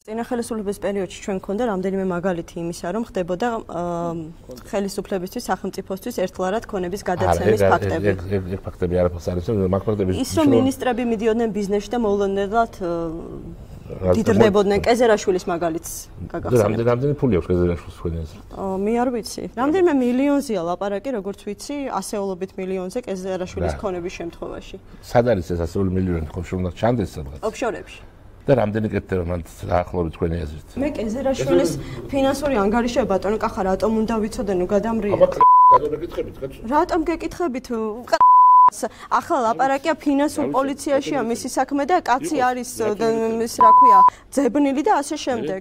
წინა ხელისუფლების პერიოდში ჩვენ გქონდა რამდენიმე მაგალითი იმისა, რომ ხდებოდა ხელისუფლებისთვის, სახელმწიფოსთვის ერთლარად ქონების გადაცემის ფაქტები. ეგ ფაქტები არაფერს არის, მაგ ფაქტები ის რომ მინისტრები მიდიოდნენ ბიზნესში და მოულოდნელად დიდრდებოდნენ კეზერაშვილის მაგალითს გაგახსენებთ. რამდენი ფული აქვს კეზერაშვილის თქვენი აზრით? მე არ ვიცი. რამდენიმე მილიონზეა ლაპარაკი, როგორც ვიცი, ასეულობით მილიონზე კეზერაშვილის ქონების შემთხვევაში. სად არის ეს ასეული მილიონი ხო უნდა ჩანდეს სადღაც? ოფშორებში. და რამდენი კეთდება მან დაახლოებით თქვენი აზრით? მე კეზერაშვილის ფინანსური ანგარიშები ბატონო კახა რატომ უნდა ვიცოდე ნუ გადამრიე. რატომ გეკითხებით? ახლა ლაპარაკია ფინანსურ პოლიციაშია მისი საქმე და კაცი არის ის რა ქვია ძებნილი და ასე შემდეგ.